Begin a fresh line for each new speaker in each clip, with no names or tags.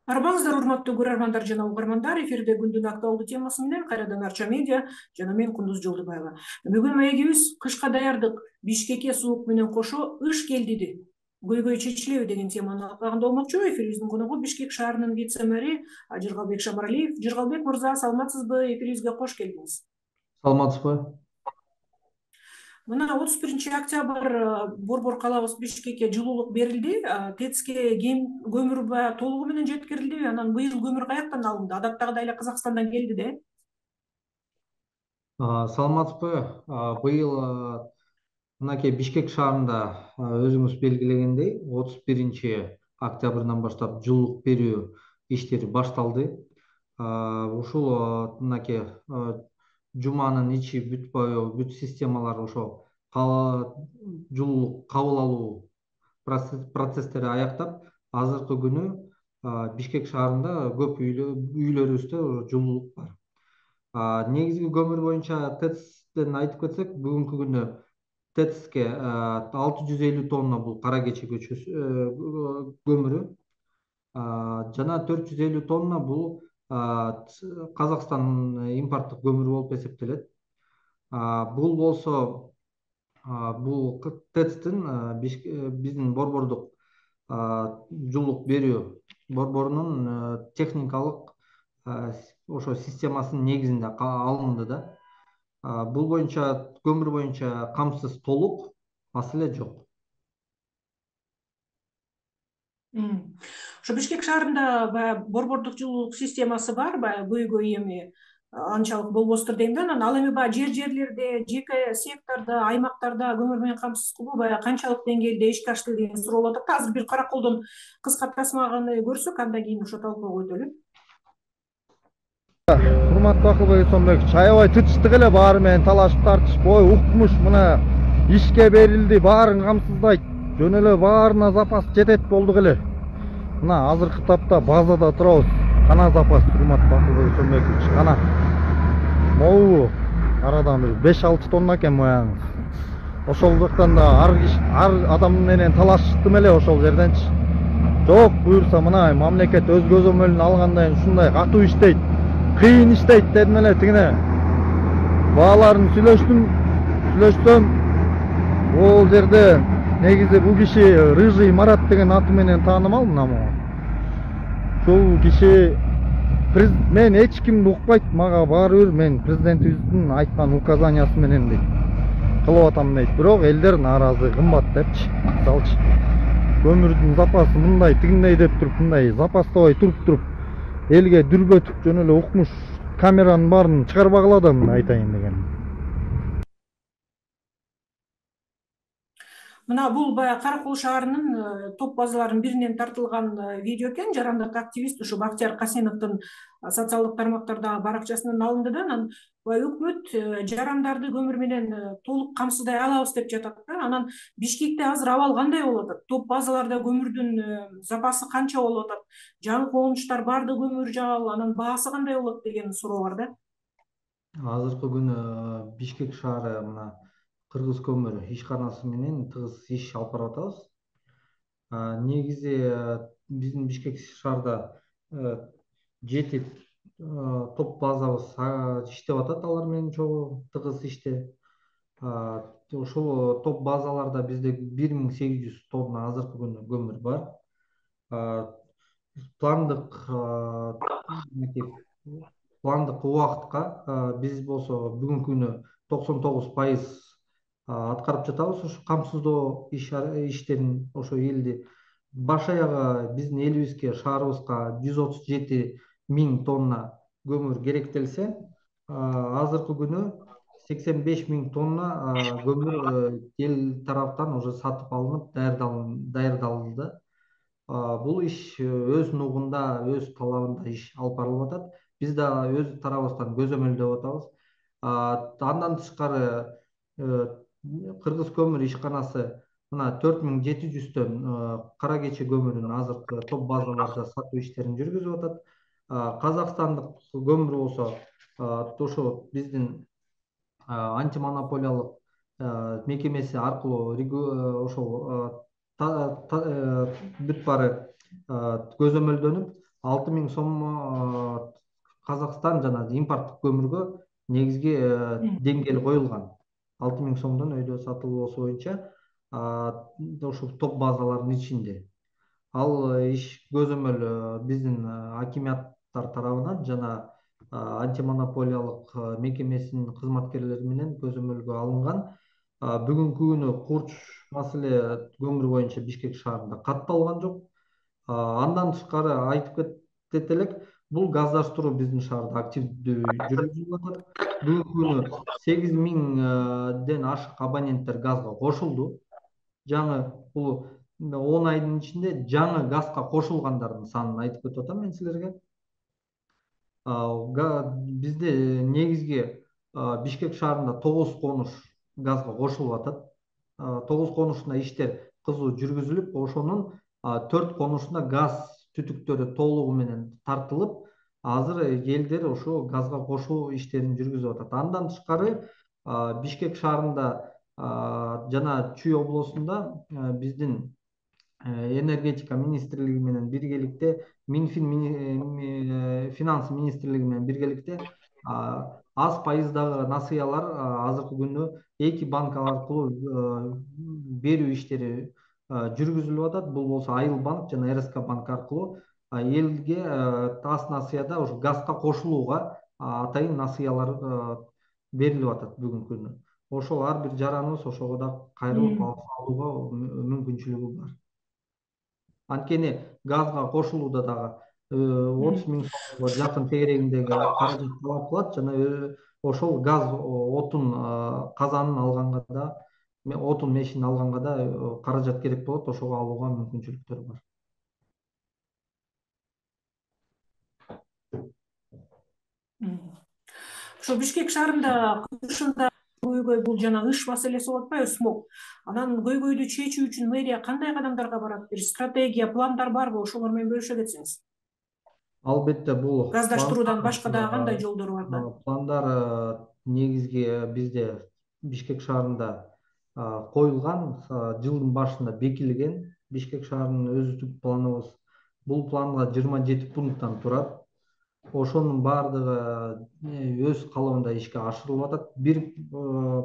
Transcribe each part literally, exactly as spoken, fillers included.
Арбаңыздар, урматтуу көрөрмандар жана угармандар, эфирде күндүн актуалдуу темасы менен кайрадан Арча медиа жана мен Кундуз Жолдубаева. Бүгүн маегибиз кышка даярдык, Бишкекке суук менен кошо ыш келдиди, көйгөй чечилеби деген теманы алкагында болмокчу. Эфирибиздин коногу Бишкек шаарынын вице-мэри Жыргалбек Шамаралиев. Жыргалбек мырза, саламатсызбы? Эфирибизге кош келдиңиз.
Саламатсызбы?
Мына отуз биринчи октябрь Борбор калабыз Бишкекке жылуулук берилди. ТЭЦке кем көмүр баягы толугу менен жеткирилдиби? Анан быйыл көмүр каяктан алынды? Адаттагыдай эле Казакстандан келди да?
Саламатсызбы? Быйыл мынакей Бишкек шаарында өзүңүз белгилегендей отуз биринчи октябрдан баштап жылуулук берүү иштери башталды. Ушул мынакей жуманын ичи бүт боюу бүт системалар ошо жылуулук кабыл алуу процесстери аяктап, азыркы күнү Бишкек шаарында көп үйлөрүбүздө жылуулук бар. Негизги көмүр боюнча ТЭЦден айтып кетсек, бүгүнкү күнү ТЭЦке алты жүз элүү тонна бул кара кече көмүрү жана төрт жүз элүү тонна бул Казакстан импорттук көмүрү болуп эсептелет. Бул болсо бул ТЭЦтин биздин борбордук жылуулук берүү борборунун техникалык ошо системасынын негизинде алынды да. Бул боюнча көмүр боюнча камсыз толук, маселе жок.
Ошо Бишкек шаарында баягы борбордук жылуулук системасы бар, баягы көйгөй эми анчалык болбостур дейм да. Анан ал эми баягы жер жерлерде, жеке сектордо, аймактарда көмүр менен камсыз кылуу баягы канчалык деңгээлде ишке ашты деген суроо болуп атат. Азыр бир караколдон кыска тасманы көрсөк, андан кийин ошо талкууга өтөлү.
Урматтуу Акылбек Эсонбекович, аябай тытыштык эле баары менен талашып тартышып, ой укмуш мына ишке берилди, баарын камсыздайт, жөн эле баарына запас жетет болдук эле. Мына азыркы тапта базада турабыз. Кана запас, урматтуу Акылбек Эсонбекович, кана. Могу арадан бир беш алты тонна экен моягыңыз. Ошол жактан да ар ар адам менен талаштым эле ошол жерденчи. Жок, буюрса мына мамлекет өз көзөмөлүнө алгандан кийин ушундай катуу иштейт, кыйын иштейт дедим эле тигине. Бааларын сүйлөштүм, сүйлөштүм. Ол жерде негизи бул киши Рыжий Марат деген аты менен таанымал мына могу. Ушул киши мен эч кимди укпайт, мага баары бир мен президентибиздин айткан указаниясы менен дейт. Кылып атам дейт. Бирок элдер нааразы, кымбат депчи. Мисалчы көмүрдүн запасы мындай тигиндей деп туруп, мындай запастабай туруп туруп элге дүрбөтүп жөн эле укмуш камеранын баарын чыгарбагыла да мына айтайын дегеним.
Мына бул баягы Каракол шаарынын топ базаларынын биринен тартылган видео экен. Жарандык активист ушу Бактияр Касеновдун социалдык тармактардагы баракчасынан алынды да. Анан өкмөт жарандарды көмүр менен толук камсыздай алабыз деп жатат да. Анан Бишкекте азыр абал кандай болуп атат? Топ базаларда көмүрдүн запасы канча болуп атат? Жаңы конуштар барды көмүр жабыл, анан баасы кандай болот деген суроо бар да.
Азыркы күнү Бишкек шаары мына Кыргыз көмүр ишканасы менен тыгыз иш алып барып атабыз. Негизи биздин Бишкек шаарда жети топ базабыз иштеп атат, алар менен чогуу тыгыз иште. Ошол топ базаларда бизде бир миң сегиз жүз тонна азыркы күнү көмүр бар. Пландык пландык убакытка биз болсо бүгүнкү күнү токсон тогуз пайыз аткарып жатабыз. Ошо камсыздоо иштерин ошо элди баш аягы биздин элибизге, шаарыбызга жүз отуз жети миң тонна көмүр керектелсе, азыркы күнү сексен беш миң тонна көмүр эл тараптан уже сатып алынып даярдалды. Бул иш өз нугунда, өз талабында иш алып барылып атат. Биз да өз тарабыбыздан көзөмөлдөп атабыз. Андан тышкары Кыргыз көмүр ишканасы мына төрт миң жети жүздөн кара кече көмүрүн азыркы топ базаларда сатуу иштерин жүргүзүп атат. Казакстандык көмүр болсо ошо биздин антимонополиялык мекемеси аркылуу ошол бүт баары көзөмөлдөнүп, алты миң сом Казакстан жана импорттук көмүргө негизги деңгээл коюлган. алты миң сомдон өйдө сатылуусу боюнча ошол топ базалардын ичинде. Ал иш көзөмөл биздин акиматтар тарабынан жана антимонополиялык мекемесинин кызматкерлери менен көзөмөлгө алынган. Бүгүнкү күнү курч маселе көмүр боюнча Бишкек шаарында катталган жок. Андан тышкары айтып кетет элек, бул газдаштыруу биздин шаарда активдүү жүргүзүлүп атат. Бүгүнкү күнү сегиз миңден ашык абоненттер газга кошулду. Жаңы бул он айдын ичинде жаңы газга кошулгандардын санын айтып кетип атам мен силерге. Бизде негизги Бишкек шаарында тогуз конуш газга кошулуп атат. тогуз конушунда иштер кызуу жүргүзүлүп, ошонун төрт конушунда газ түтүктөрү толугу менен тартылып, азыр элдер ошо газга кошуу иштерин жүргүзүп атат. Андан тышкары Бишкек шаарында жана Чүй облусунда биздин энергетика министрлиги менен биргеликте, Минфин финанс министрлиги менен биргеликте аз пайыздагы насыялар азыркы күндө эки банк аркылуу берүү иштери жүргүзүлүп атат. Бул болсо Айыл банк жана эр эс ка банк аркылуу элге аз насыяда ошо газга кошулууга атайын насыялар берилип атат бүгүнкү күнү. Ошол ар бир жараныбыз ошого да кайрылып алууга мүмкүнчүлүгү бар. Анткени газга кошулууда дагы отуз миң сомго жакын тегерегиндеги каражат талап кылат жана ошол газ отун казанын алганга да, отун мешин алганга да каражат керек болот, ошого алууга мүмкүнчүлүктөр бар.
Ошо Бишкек шаарында кышында көйгөй бул жана ыш маселеси болуп атпайбы, смог. Анан көйгөйдү чечүү үчүн мэрия кандай кадамдарга барат? Бир стратегия, пландар барбы? Ошолор менен бөлүшө кетсеңиз.
Албетте, бул
газдаштыруудан башка дагы кандай жолдор бар да?
Пландар негизги бизде Бишкек шаарында коюлган, жылдын башында бекилген. Бишкек шаарынын өзүлүк планыбыз. Бул планга жыйырма жети пункттан турат. Ошонун баардыгы өз калыбында ишке ашырылып атат. Бир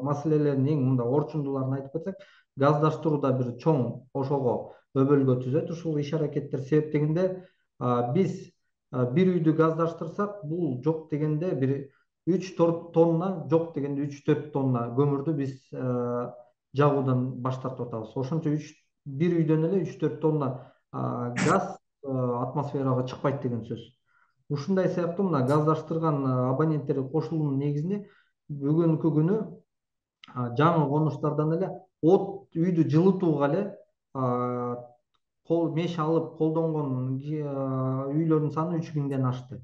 маселелердин эң мындай орчундууларын айтып кетсек, газдаштырууда бир чоң ошого өбөлгө түзөт ушул иш аракеттер. Себеп дегенде биз бир үйдү газдаштырсак, бул жок дегенде бир үч төрт тонна, жок дегенде үч төрт тонна көмүрдү биз жагуудан баш тартып атабыз. Ошончо бир үйдөн эле үч төрт тонна газ атмосферага чыкпайт деген сөз. Ушундай сыяктуу мына газдаштырган абоненттер кошулуунун негизинде бүгүнкү күнү жаңы конуштардан эле от үйдү жылытууга эле меш алып колдонгон үйлөрдүн саны үч миңден ашты.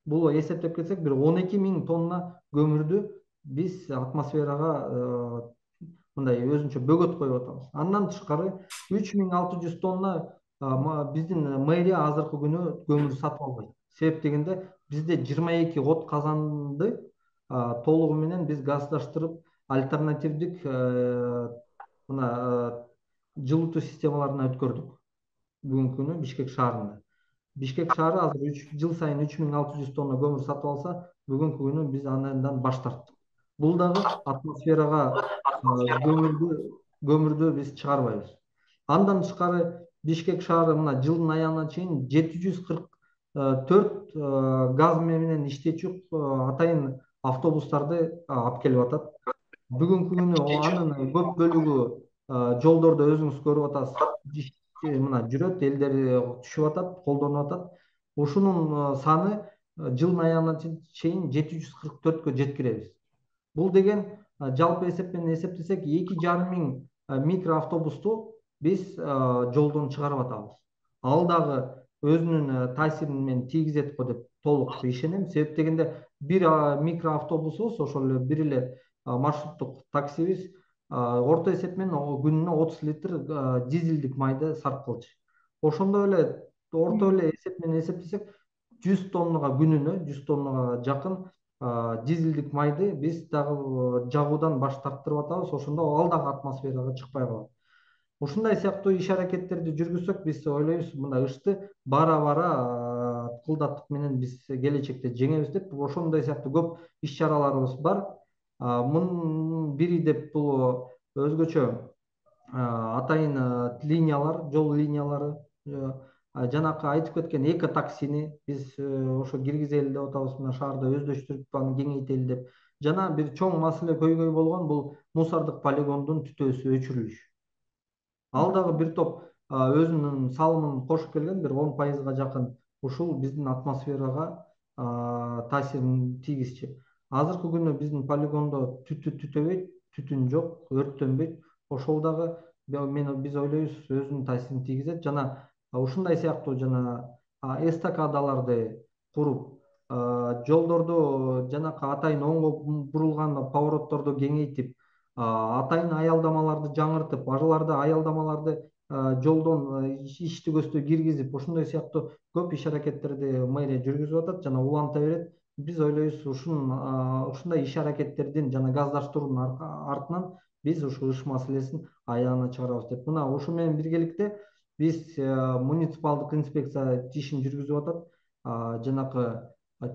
Бул эсептеп кетсек, бир он эки миң тонна көмүрдү биз атмосферага мындай өзүнчө бөгөт коюп атабыз. Андан тышкары үч миң алты жүз тонна биздин мэрия азыркы күнү көмүр сатып албайт. Себеп дегенде бизде жыйырма эки от казанды толугу менен биз газдаштырып, альтернативдик мына жылытуу системаларына өткөрдүк. Бүгүнкү күнү Бишкек шаарында. Бишкек шаары азыр үч жыл сайын үч миң алты жүз тонна көмүр сатып алса, бүгүнкү күнү биз андан баш тарттык. Бул дагы атмосферага көмүрдү көмүрдү биз чыгарбайбыз. Андан тышкары Бишкек шаары мына жылдын аягына чейин жети жүз кырк төрт газ менен иштечү атайын автобустарды алып келип атат. Бүгүнкү күнү анын көп бөлүгү жолдордо өзүңүз көрүп атасыз. Мына жүрөт, элдер түшүп атат, колдонуп атат. Ушунун саны жылдын аягына чейин жети жүз кырк төрткө жеткиребиз. Бул деген жалпы эсеп менен эсептесек, эки жарым миң микроавтобусту биз жолдон чыгарып атабыз. Ал дагы өзүнүн таасирин мен тийгизет го деп толук ишенем. Себеп дегенде бир микроавтобусубуз, ошол эле бир эле маршруттук таксибиз орто эсеп менен күнүнө отуз литр дизелдик майды сарп кылчу. Ошондой эле орто эле эсеп менен эсептесек, жүз тоннага күнүнө, жүз тоннага жакын дизелдик майды биз дагы жагуудан баш тарттырып атабыз. Ошондо ал дагы атмосферага чыкпай калат. Ушундай сыяктуу иш аракеттерди жүргүзсөк, биз ойлойбуз, мына ышты бара-бара ыкылдаттык менен биз келечекте жеңебиз деп ошондой сыяктуу көп иш чараларыбыз бар. Мунун бири деп бул өзгөчө атайын линиялар, жол линиялары, жанакы айтып кеткен эко таксини биз ошо киргизели деп атабыз, мына шаарда өздөштүрүп аны кеңейтели деп. Жана бир чоң маселе көйгөй болгон бул мусордук полигондун түтөөсү өчүрүлүш. Ал дагы бир топ өзүнүн салымын кошуп келген, бир он пайызга жакын ушул биздин атмосферага таасирин тийгизчү. Азыркы күнү биздин полигондо түтү түтөбөйт, түтүн жок, өрттөнбөйт. Ошол дагы биз ойлойбуз өзүнүн таасирин тийгизет. Жана ушундай сыяктуу жана эстакадаларды куруп, жолдорду жанакы атайын оңго бурулган поворотторду кеңейтип, атайын аялдамаларды жаңыртып, аларды аялдамаларды жолдон ичти көстө киргизип, ошондой сыяктуу көп иш аракеттерди мэрия жүргүзүп атат жана уланта берет. Биз ойлойбуз ушундай иш аракеттердин жана газдаштыруунун артынан биз ушул ыш маселесин аягына чыгарабыз деп. Мына ушу менен биргеликте биз муниципалдык инспекция ишин жүргүзүп атат. Жанакы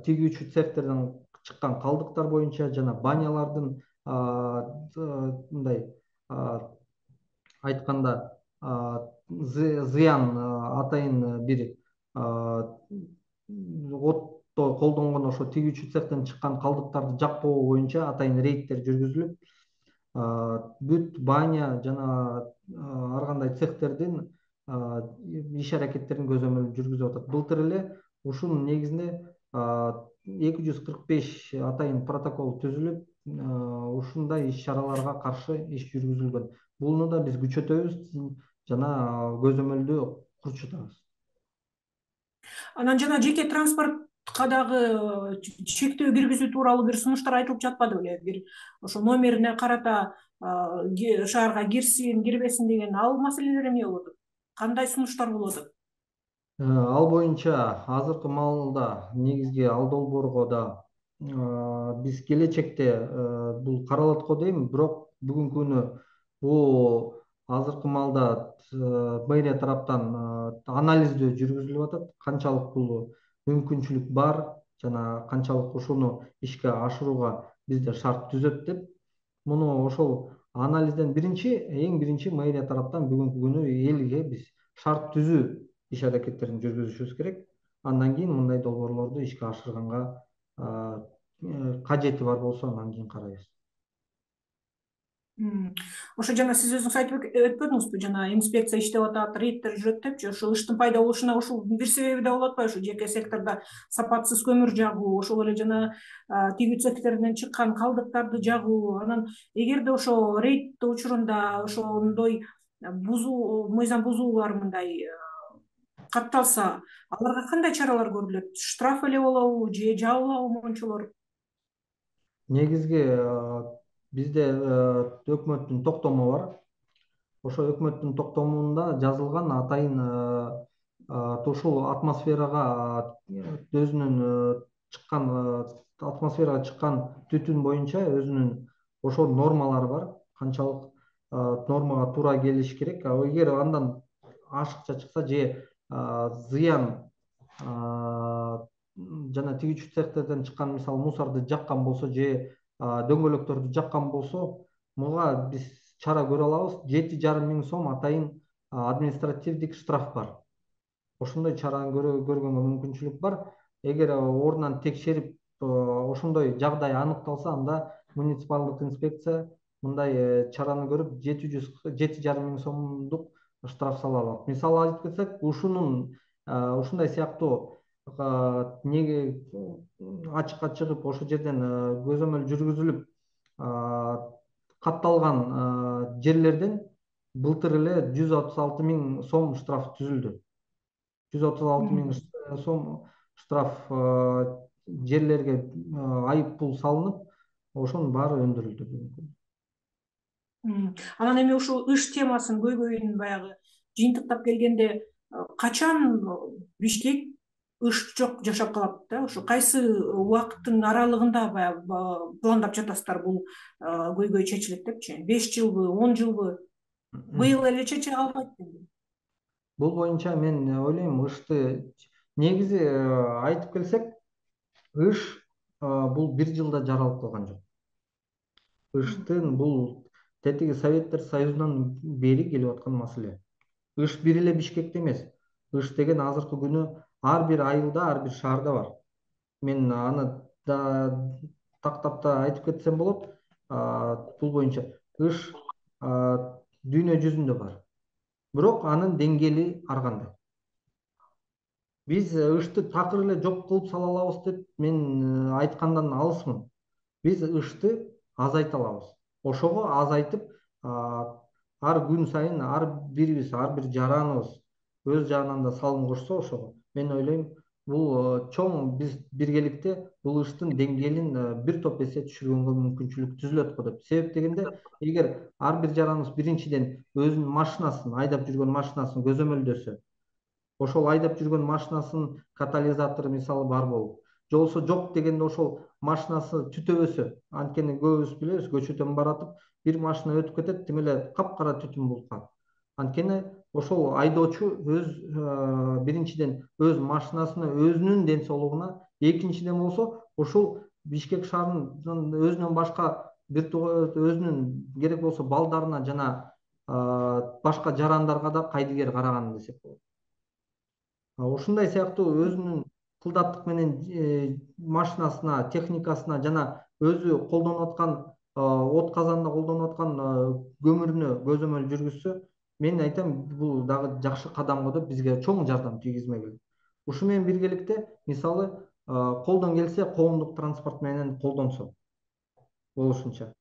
тигүүчү цехтерден чыккан калдыктар боюнча жана банялардын мындай айтканда зыян атайын бир отто колдонгон ошо тигүүчү цехтен чыккан калдыктарды жакпоо боюнча атайын рейдтер жүргүзүлүп, бүт баня жана ар кандай цехтердин иш аракеттерин көзөмөл жүргүзүп атат. Былтыр эле ушунун негизинде эки жүз кырк беш атайын протокол түзүлүп, ушундай иш чараларга каршы иш жүргүзүлгөн. Буну да биз күчөтөбүз жана көзөмөлдү курчутабыз.
Анан жана жеке транспортко дагы чектөө киргизүү тууралуу бир сунуштар айтылып жатпады беле? Бир ошо номерине карата шаарга кирсин, кирбесин деген ал маселелер эмне болот? Кандай сунуштар болот?
Ал боюнча азыркы маалда негизги ал долбоорго да биз келечекте бул каралат го дейм, бирок бүгүнкү күнү бул азыркы маалда мэрия тараптан анализдөө жүргүзүлүп атат. Канчалык бул мүмкүнчүлүк бар жана канчалык ушуну ишке ашырууга бизде шарт түзөт деп. Муну ошол анализден биринчи, эң биринчи мэрия тараптан бүгүнкү күнү элге биз шарт түзүү иш аракеттерин жүргүзүшүбүз керек. Андан кийин мындай долбоорлорду ишке ашырганга кажети бар болсо андан кийин карайбыз.
Ошо жана сиз өзүңүз айтып өтпөдүңүзбү, жана инспекция иштеп атат, рейдтер жүрөт депчи. Ошо ыштын пайда болушуна ушул бир себеби да болот атпайбы? Ушу жеке сектордо сапатсыз көмүр жагуу, ошол эле жана тигүү цехтеринен чыккан калдыктарды жагуу. Анан эгерде ошо рейд учурунда ошондой бузуу, мыйзам бузуулар мындай катталса, аларга кандай чаралар көрүлөт? Штраф эле болобу же жабылабы мончолор?
Негизги бизде өкмөттүн токтому бар. Ошо өкмөттүн токтомунда жазылган атайын ушул атмосферага өзүнүн чыккан атмосферага чыккан түтүн боюнча өзүнүн ошо нормалары бар. Канчалык нормага туура келиш керек. Эгер андан ашыкча чыкса же зыян жана тигүүчү цехтерден чыккан мисалы мусорду жаккан болсо же дөңгөлөктөрдү жаккан болсо, муга биз чара көрө алабыз. жети жарым миң сом атайын административдик штраф бар. Ошондой чараны көргөнгө мүмкүнчүлүк бар. Эгер ордунан текшерип ошондой жагдай аныкталса, анда муниципалдык инспекция мындай чараны көрүп жети жарым миң сомдук штраф сала алат. Мисалы айтып кетсек, ушунун ушундай сыяктуу неге ачыкка чыгып ошол жерден көзөмөл жүргүзүлүп катталган жерлерден былтыр эле жүз отуз алты миң сом штраф түзүлдү. жүз отуз алты миң сом штраф жерлерге айып пул салынып, ошонун баары өндүрүлдү бүгүнкү.
Анан эми ушул ыш темасын көйгөйүн баягы жыйынтыктап келгенде, качан Бишкек ыш жок жашап калат да? Ошо кайсы убакыттын аралыгында баягы пландап жатасыздар бул көйгөй чечилет депчи? беш жылбы, он жылбы? Быйыл эле чече албайт беле?
Бул боюнча мен ойлойм, ышты негизи айтып келсек, ыш бул бир жылда жаралып калган жок. Ыштын бул тетиги Советтер Союзунан бери келип аткан маселе. Ыш бир эле Бишкекте эмес. Ыш деген азыркы күнү ар бир айылда, ар бир шаарда бар. Мен аны да тактап да айтып кетсем болот. Бул боюнча ыш дүйнө жүзүндө бар. Бирок анын деңгээли ар кандай. Биз ышты такыр эле жок кылып сала алабыз деп мен айткандан алысмын. Биз ышты азайта алабыз. Ошого азайтып, ар күн сайын ар бирибиз, ар бир жараныбыз өз жагынан да салым кошсо, ошого мен ойлойм, бул чоң биз биргеликте бул ыштын деңгээлин бир топ эсе түшүргөнгө мүмкүнчүлүк түзүлөт го деп. Себеп дегенде, эгер ар бир жараныбыз биринчиден өзүнүн машинасын, айдап жүргөн машинасын көзөмөлдөсө, ошол айдап жүргөн машинасынын катализатору мисалы бар болуп, же болбосо жок дегенде ошол машинасы түтөбөсө, анткени көбүбүз билебиз, көчөдөн баратып бир машина өтүп кетет, тим эле капкара түтүн болуп калат. Анткени ошол айдоочу өз биринчиден өз машинасына, өзүнүн ден соолугуна, экинчиден болсо ошол Бишкек шаарынын өзүнөн башка бир өзүнүн керек болсо балдарына жана башка жарандарга да кайдыгер караган десек болот. Ушундай сыяктуу өзүнүн кылдаттык менен машинасына, техникасына жана өзү колдонуп аткан от казанда колдонуп аткан көмүрүнө көзөмөл жүргүзсө, мен айтам, бул дагы жакшы кадам го деп, бизге чоң жардам тийгизмек. Ушу менен биргеликте, мисалы, колдон келсе коомдук транспорт менен колдонсо болушунча.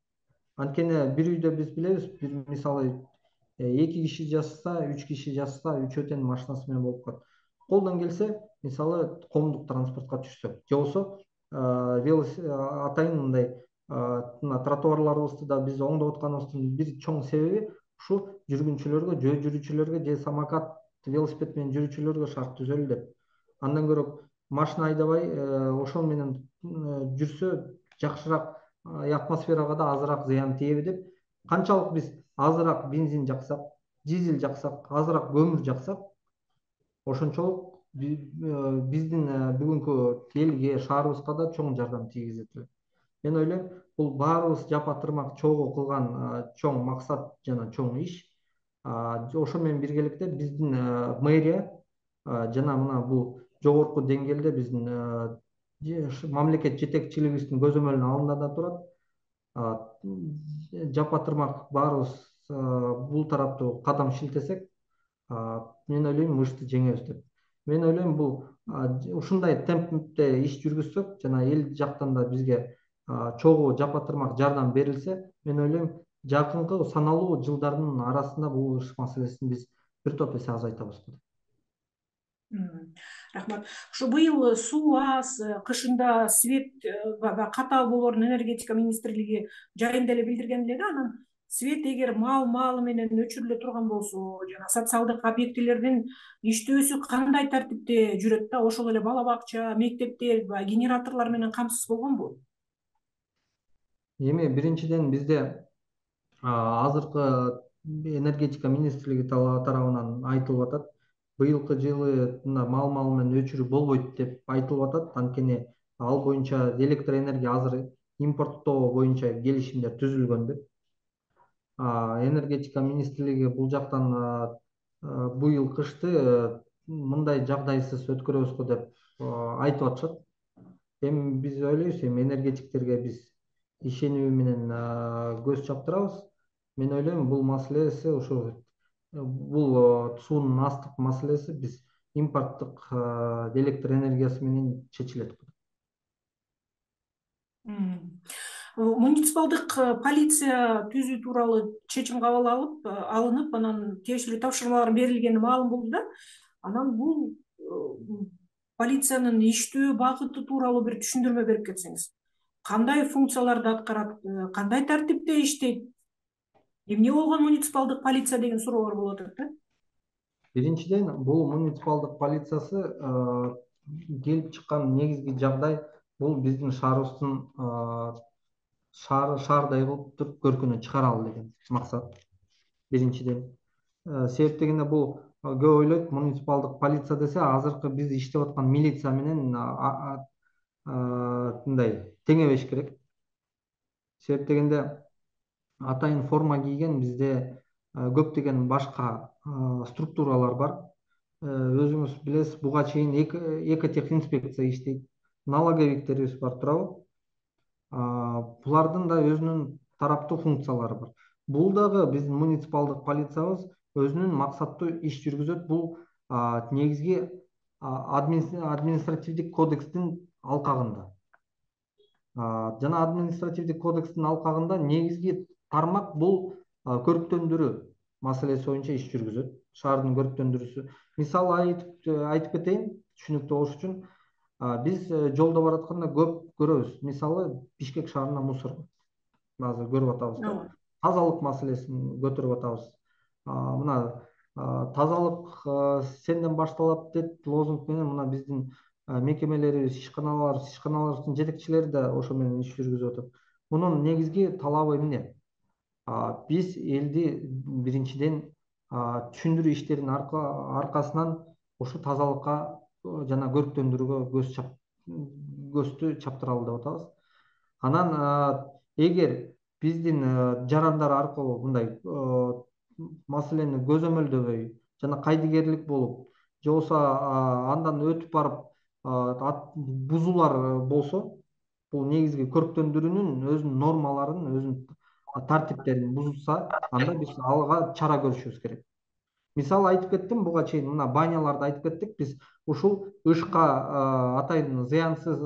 Анткени бир үйдө биз билебиз, бир мисалы эки киши жашаса, үч киши жашаса, үчөө тең машинасы менен болуп калат. Колдон келсе, мисалы, коомдук транспортко түшсө, же болбосо атайын мындай тротуарларыбызды да биз оңдоп атканыбыздын бир чоң себеби ушу жүргүнчүлөргө, жөө жүрүүчүлөргө же самокат, велосипед менен жүрүүчүлөргө шарт түзөлү деп. Андан көрө машина айдабай ошол менен жүрсө жакшыраак, атмосферага да азыраак зыян тиеби деп, канчалык биз азыраак бензин жаксак, дизель жаксак, азыраак көмүр жаксак, ошончолук биздин бүгүнкү элге, шаарыбызга да чоң жардам тийгизет эле. Мен ойлойм, бул баарыбыз жапа тырмак чогуу кылган чоң максат жана чоң иш. Ошо менен биргеликте биздин мэрия жана мына бул жогорку деңгээлде биздин мамлекет жетекчилигибиздин көзөмөлүнүн алдында да турат. Жапа тырмак баарыбыз бул тараптуу кадам шилтесек, мен ойлойм, ышты жеңебиз деп. Мен ойлойм, бул ушундай темпте иш жүргүзсөк жана эл жактан да бизге чогуу жапа тырмак жардам берилсе, мен ойлойм, жакынкы саналуу жылдардын арасында бул ыш маселесин биз бир топ эсе азайтабыз.
Рахмат. Ушу быйыл суу аз, кышында свет катаал болоорун энергетика министрлиги жайында эле билдирген эле да. Анан свет эгер мал маалы менен өчүрүлө турган болсо, жана социалдык объектилердин иштөөсү кандай тартипте жүрөт да? Ошол эле бала бакча, мектептер генераторлор менен камсыз болгонбу?
Эми биринчиден бизде азыркы энергетика министрлиги тарабынан айтылып атат, быйылкы жылы мал маалы менен өчүрүү болбойт деп айтылып атат. Анткени ал боюнча электр энергия азыр импорттоо боюнча келишимдер түзүлгөн деп. Энергетика министрлиги бул жактан быйыл кышты мындай жагдайсыз өткөрөбүз го деп айтып атышат. Эми биз ойлойбуз, эми энергетиктерге биз ишенүү менен көз чаптырабыз. Мен ойлойм, бул маселеси ушу бул суунун астык маселеси биз импорттук электр энергиясы менен чечилет.
Муниципалдык полиция түзүү тууралуу чечим кабыл алып алынып, анан тиешелүү тапшырмалар берилгени маалым болду да. Анан бул полициянын иштөө багыты тууралуу бир түшүндүрмө берип кетсеңиз. Кандай функцияларды аткарат, кандай тартипте иштейт? Эмне болгон муниципалдык полиция деген суроолор болуп атат да.
Биринчиден, бул муниципалдык полициясы келип чыккан негизги жагдай бул биздин шаарыбыздын шаар шаардай кылып туруп көркүнө чыгаралы деген максат. Биринчиден, себеп дегенде бул көп ойлойт муниципалдык полиция десе азыркы биз иштеп аткан милиция менен мындай теңебеш керек. Себеп дегенде атайын форма кийген бизде көптөгөн башка структуралар бар. Өзүңүз билесиз, буга чейин экотехинспекция иштейт, налоговиктерибиз бар, туурабы? Булардын да өзүнүн тараптуу функциялары бар. Бул дагы биздин муниципалдык полициябыз өзүнүн максаттуу иш жүргүзөт. Бул негизги административдик кодекстин алкагында. Жана административдик кодекстин алкагында негизги тармак бул көрүктөндүрүү маселеси боюнча иш жүргүзөт. Шаардын көрүктөндүрүүсү. Мисалы айтып кетейин, түшүнүктүү болуш үчүн. Биз жолдо баратканда көп көрөбүз. Мисалы, Бишкек шаарында мусор азыр көрүп атабыз. Тазалык маселесин көтөрүп атабыз. Мына тазалык сенден башталат деп лозунг менен мына биздин мекемелерибиз, ишканалар, ишканалардын жетекчилери да ошо менен иш жүргүзүп атат. Мунун негизги талабы эмне? Биз элди биринчиден түшүндүрүү иштеринин аркасынан ошо тазалыкка жана көрүктөндүрүүгө көздү чаптыралы деп атабыз. Анан эгер биздин жарандар аркылуу мындай маселени көзөмөлдөбөй жана кайдыгерлик болуп, же болбосо андан өтүп барып бузуулар болсо, бул негизги көрүктөндүрүүнүн өзүнүн нормаларын, өзүнүн тартиптерин бузса, анда биз алга чара көрүшүбүз керек. Мисалы айтып кеттим, буга чейин мына баняларды айтып кеттик. Биз ушул ышка атайын зыянсыз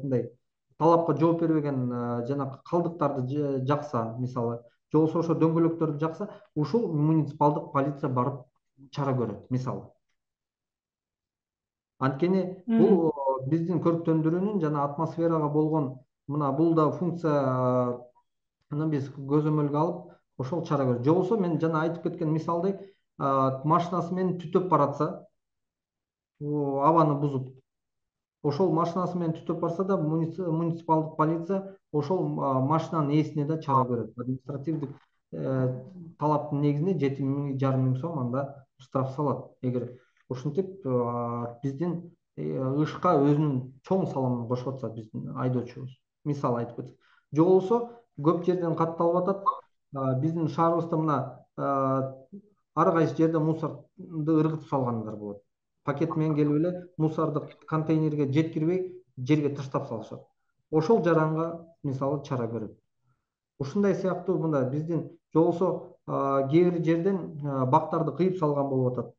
мындай талапка жооп бербеген жана калдыктарды жакса, мисалы, же болбосо ошо дөңгөлөктөрдү жакса, ушул муниципалдык полиция барып чара көрөт, мисалы. Анткени бул биздин көрүктөндүрүүнүн жана атмосферага болгон мына бул да функцияны биз көзөмөлгө алып, ошол чара көрөт. Же болбосо мен жана айтып кеткен мисалдай машинасы менен түтөп баратса, абаны бузуп, ошол машинасы менен түтөп барса да муниципалдык полиция ошол машинанын ээсине да чара көрөт. Административдик талаптын негизинде жети жарым миң сом анда штраф салат. Эгер ошентип биздин ышка өзүнүн чоң салымын кошуп атса биздин айдоочубуз, мисалы айтып кетсек. Же болбосо көп жерден катталып атат. Биздин шаарыбызда мына ар кайсы жерде мусорду ыргытып салгандар болот. Пакет менен келип эле мусорду контейнерге жеткирбей жерге таштап салышат. Ошол жаранга мисалы чара көрөт. Ушундай сыяктуу мында биздин же болбосо кээ бир жерден бактарды кыйып салган болуп атат.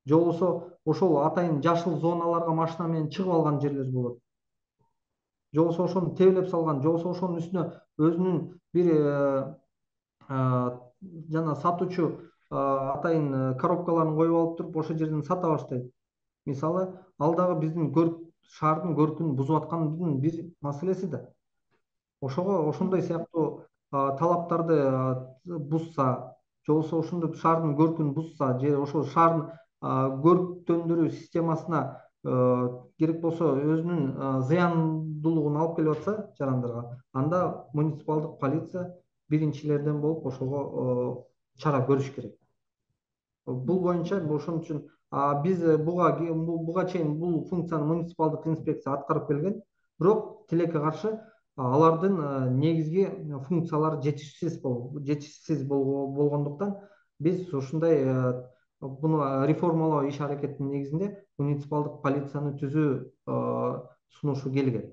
Же болбосо ошол атайын жашыл зоналарга машина менен чыгып алган жерлер болот. Же болбосо ошону тебелеп салган, же болбосо ошонун үстүнө өзүнүн бир жана сатуучу атайын коробкаларын коюп алып туруп ошол жерден сата баштайт. Мисалы, ал дагы биздин шаардын көркүн бузуп аткандын бир маселеси да. Ошого ошондой сыяктуу талаптарды бузса, же болбосо ошондой шаардын көркүн бузса, же ошол шаардын көрүктөндүрүү системасына керек болсо өзүнүн зыяндуулугун алып келип атса жарандарга, анда муниципалдык полиция биринчилерден болуп ошого чара көрүш керек. Бул боюнча ошон үчүн биз буга буга чейин бул функцияны муниципалдык инспекция аткарып келген, бирок тилекке каршы алардын негизги функциялары жетишсиз жетишсиз болгондуктан биз ушундай буну реформалоо иш аракетинин негизинде муниципалдык полицияны түзүү сунушу келген.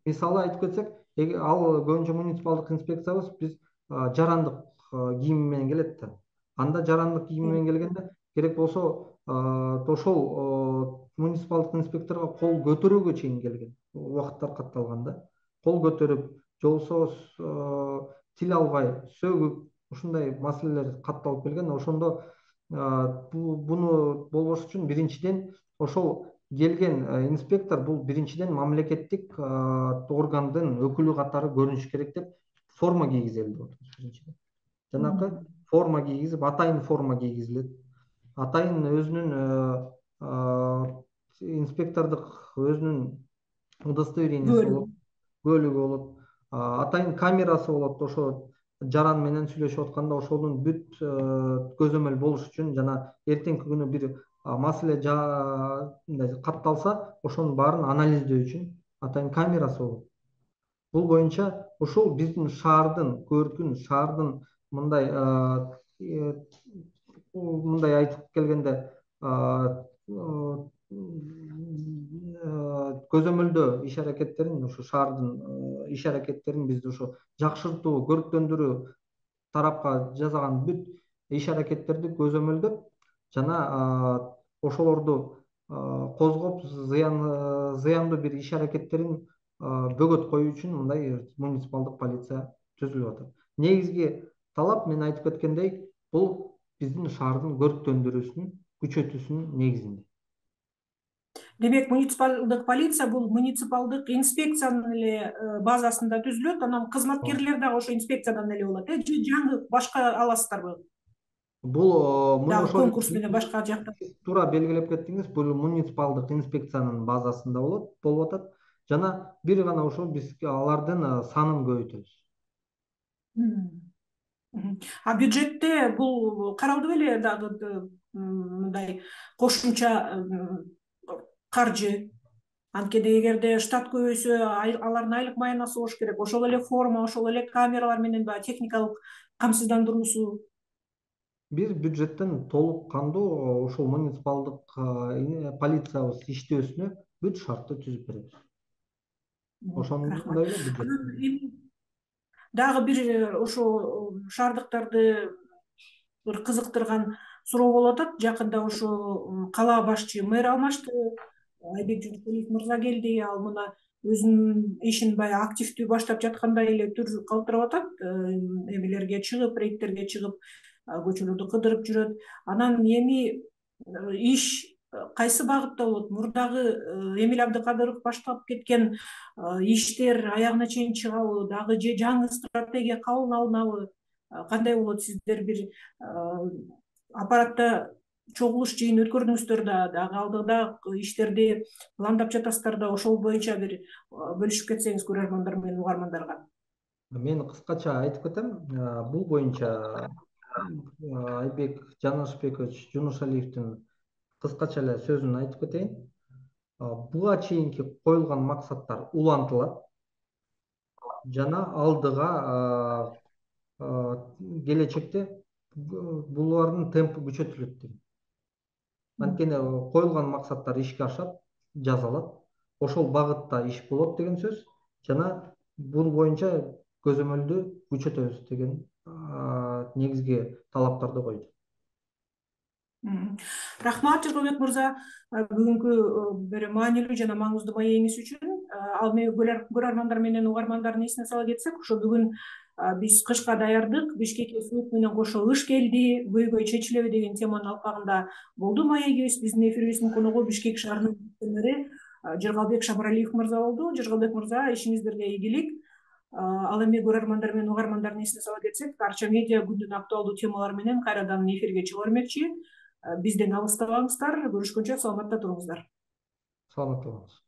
Мисалы айтып кетсек, ал көбүнчө муниципалдык инспекциябыз биз жарандык кийим менен келет да. Анда жарандык кийим менен келгенде керек болсо ошол муниципалдык инспекторго кол көтөрүүгө чейин келген убакыттар катталган да. Кол көтөрүп, же болбосо тил албай, сөгүп, ушундай маселелер катталып келген. Ошондо буну болбош үчүн биринчиден ошол келген инспектор бул биринчиден мамлекеттик органдын өкүлү катары көрүнүш керек деп форма кийгизели деп атабыз биринчиден. Жанакы форма кийгизип, атайын форма кийгизилет. Атайын өзүнүн инспектордук өзүнүн удостоверениясы болот, көлүгү болот, атайын камерасы болот. Ошо жаран менен сүйлөшүп атканда ошонун бүт көзөмөл болуш үчүн жана эртеңки күнү бир маселе катталса ошонун баарын анализдөө үчүн атайын камерасы болот. Бул боюнча ушул биздин шаардын көркүн, шаардын мындай мындай айтып келгенде көзөмөлдөө иш аракеттерин, ушу шаардын иш аракеттерин бизди ушу жакшыртуу, көрктөндүрүү тарапка жасаган бүт иш аракеттерди көзөмөлдөп жана ошолорду козгоп зыян зыяндуу бир иш аракеттерин бөгөт коюу үчүн мындай муниципалдык полиция түзүлүп атат. Негизги талап мен айтып кеткендей, бул биздин шаардын көрктөндүрүүсүн күчөтүүсүнүн негизинде.
Демек, муниципалдык полиция бул муниципалдык инспекциянын эле базасында түзүлөт, анан кызматкерлер дагы ошо инспекциядан эле болот, э? Же жаңы башка аласыздарбы?
Бул
дагы конкурс менен башка жакта.
Туура белгилеп кеттиңиз, бул муниципалдык инспекциянын базасында болот, болуп атат. Жана бир гана ошол биз алардын санын көбөйтөбүз.
А бюджетте бул каралды беле дагы мындай кошумча каржы? Анткени эгерде штат көбөйсө, алардын айлык маянасы болуш керек, ошол эле форма, ошол эле камералар менен баягы техникалык камсыздандыруусу.
Биз бюджеттен толук кандуу ошол муниципалдык полициябыз иштөөсүнө бүт шартты түзүп беребиз. Ошондой эле бюджет.
Дагы бир ошо шаардыктарды бир кызыктырган суроо болуп атат. Жакында ошо кала башчы мэр алмашты, Айбек Жумушалиев мырза келди, ал мына өзүнүн ишин баягы активдүү баштап жаткандай эле түр калтырап атат. Эмелерге чыгып, рейдтерге чыгып, көчөлөрдү кыдырып жүрөт. Анан эми иш кайсы багытта болот? Мурдагы Эмиль Абдыкадыров баштап кеткен иштер аягына чейин чыгабы, дагы же жаңы стратегия кабыл алынабы? Кандай болот? Сиздер бир аппаратта чогулуш жыйын өткөрдүңүздөр да, дагы алдыда иштерди пландап жатасыздар да, ошол боюнча бир бөлүшүп кетсеңиз көрөрмандар менен угармандарга.
Мен кыскача айтып кетем. Бул боюнча Айбек Жанашбекович Жунушалиевдин кыскача эле сөзүн айтып кетейин. Буга чейинки коюлган максаттар улантылат жана алдыга келечекте булардын темпи күчөтүлөт дейм. Анткени коюлган максаттар ишке ашат, жасалат, ошол багытта иш болот деген сөз жана бул боюнча көзөмөлдү күчөтөбүз деген негизги талаптарды койду.
Рахмат Жыргалбек мырза, бүгүнкү бир маанилүү жана маңыздуу маегиңиз үчүн. Ал эми көрөрмандар менен угармандардын эсине сала кетсек, ошо бүгүн биз кышка даярдык, Бишкекке суук менен кошо ыш келди, көйгөй чечилеби деген теманын алкагында болду маегибиз. Биздин эфирибиздин коногу Бишкек шаарынын мэри Жыргалбек Шабаралиев мырза болду. Жыргалбек мырза, ишиңиздерге ийгилик. Ал эми көрөрмандар менен угармандардын эсине сала кетсек, Арча медиа күндүн актуалдуу темалары менен кайрадан эфирге чыга бермекчи. Бизден алыстабаңыздар. Көрүшкөнчө саламатта туруңуздар.
Саламатта болуңуз.